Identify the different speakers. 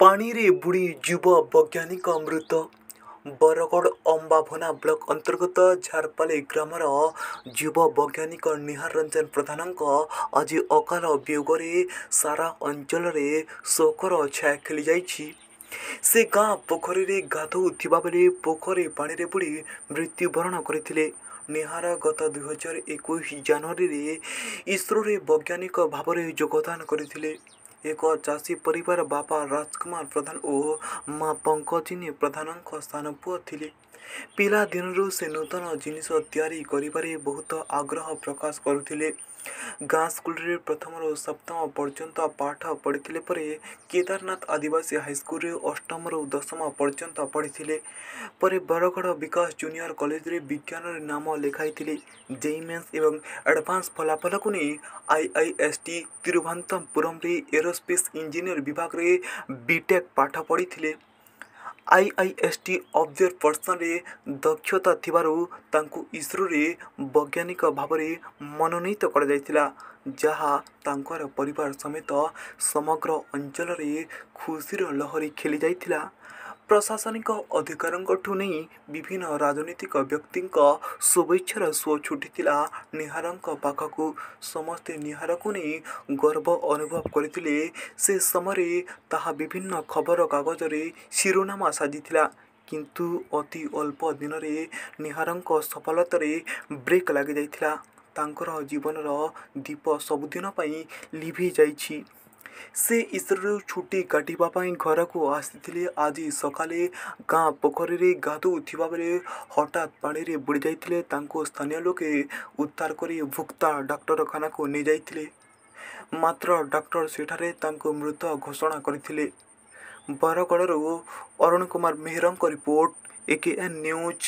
Speaker 1: ପାଣିରେ ବୁଡ଼ି ଯୁବ ବୈଜ୍ଞାନିକ ମୃତ। ବରଗଡ଼ ଅମ୍ବାଭୋନା ବ୍ଲକ ଅନ୍ତର୍ଗତ ଝାରପାଲି ଗ୍ରାମର ଯୁବ ବୈଜ୍ଞାନିକ ନିହାର ରଞ୍ଜନ ପ୍ରଧାନଙ୍କ ଆଜି ଅକାଳ ବିୟୋଗରେ ସାରା ଅଞ୍ଚଳରେ ଶୋକର ଛାୟା ଖେଳିଯାଇଛି। ସେ ଗାଁ ପୋଖରୀରେ ଗାଧୋଉଥିବା ବେଳେ ପୋଖରୀ ପାଣିରେ ବୁଡ଼ି ମୃତ୍ୟୁବରଣ କରିଥିଲେ। ନିହାର ଗତ 2021 ଜାନୁଆରୀରେ ଇସ୍ରୋରେ ବୈଜ୍ଞାନିକ ଭାବରେ ଯୋଗଦାନ କରିଥିଲେ। ଏକ ଚାଷୀ ପରିବାର ବାପା ରାଜକୁମାର ପ୍ରଧାନ ଓ ମା ପଙ୍କଜିନୀ ପ୍ରଧାନଙ୍କ ସାନ ପୁଅ ଥିଲେ। ପିଲାଦିନରୁ ସେ ନୂତନ ଜିନିଷ ତିଆରି କରିବାରେ ବହୁତ ଆଗ୍ରହ ପ୍ରକାଶ କରୁଥିଲେ। ଗାଁ ସ୍କୁଲରେ ପ୍ରଥମରୁ ସପ୍ତମ ପର୍ଯ୍ୟନ୍ତ ପାଠ ପଢ଼ିଥିଲେ। ପରେ କେଦାରନାଥ ଆଦିବାସୀ ହାଇସ୍କୁଲରେ ଅଷ୍ଟମରୁ ଦଶମ ପର୍ଯ୍ୟନ୍ତ ପଢ଼ିଥିଲେ। ପରେ ବରଗଡ଼ ବିକାଶ ଜୁନିୟର କଲେଜରେ ବିଜ୍ଞାନରେ ନାମ ଲେଖାଇଥିଲେ। ଜେଇଇ ମେନ୍ସ ଏବଂ ଆଡ଼ଭାନ୍ସ ଫଳାଫଳକୁ ନେଇ ଆଇଆଇଏସ୍ଟି ତିରୁଭନ୍ତପୁରମରେ ଏରୋସ୍ପେସ୍ ଇଞ୍ଜିନିୟର ବିଭାଗରେ ବିଟେକ୍ ପାଠ ପଢ଼ିଥିଲେ। ଆଇଆଇଏସ୍ଟି ଅବଜରପର୍ସନରେ ଦକ୍ଷତା ଥିବାରୁ ତାଙ୍କୁ ଇସ୍ରୋରେ ବୈଜ୍ଞାନିକ ଭାବରେ ମନୋନୀତ କରାଯାଇଥିଲା, ଯାହା ତାଙ୍କର ପରିବାର ସମେତ ସମଗ୍ର ଅଞ୍ଚଳରେ ଖୁସିର ଲହରୀ ଖେଳିଯାଇଥିଲା। ପ୍ରଶାସନିକ ଅଧିକାରୀଙ୍କଠୁ ନେଇ ବିଭିନ୍ନ ରାଜନୈତିକ ବ୍ୟକ୍ତିଙ୍କ ଶୁଭେଚ୍ଛାର ସୁଅ ଛୁଟିଥିଲା ନିହାରଙ୍କ ପାଖକୁ। ସମସ୍ତେ ନିହାରକୁ ନେଇ ଗର୍ବ ଅନୁଭବ କରିଥିଲେ। ସେ ସମୟରେ ତାହା ବିଭିନ୍ନ ଖବରକାଗଜରେ ଶିରୋନାମା ସାଜିଥିଲା। କିନ୍ତୁ ଅତି ଅଳ୍ପ ଦିନରେ ନିହାରଙ୍କ ସଫଳତାରେ ବ୍ରେକ୍ ଲାଗିଯାଇଥିଲା। ତାଙ୍କର ଜୀବନର ଦୀପ ସବୁଦିନ ପାଇଁ ଲିଭି ଯାଇଛି। ସେ ଇସ୍ରୋରୁ ଛୁଟି କାଟିବା ପାଇଁ ଘରକୁ ଆସିଥିଲେ। ଆଜି ସକାଳେ ଗାଁ ପୋଖରୀରେ ଗାଧୋଉଥିବା ବେଳେ ହଠାତ୍ ପାଣିରେ ବୁଡ଼ିଯାଇଥିଲେ। ତାଙ୍କୁ ସ୍ଥାନୀୟ ଲୋକେ ଉଦ୍ଧାର କରି ଭୁକ୍ତା ଡାକ୍ତରଖାନାକୁ ନେଇଯାଇଥିଲେ। ମାତ୍ର ଡାକ୍ତର ସେଠାରେ ତାଙ୍କୁ ମୃତ ଘୋଷଣା କରିଥିଲେ। ବରଗଡ଼ରୁ ଅରୁଣ କୁମାର ମେହେରଙ୍କ ରିପୋର୍ଟ, ଏକେଏନ୍ ନ୍ୟୁଜ୍।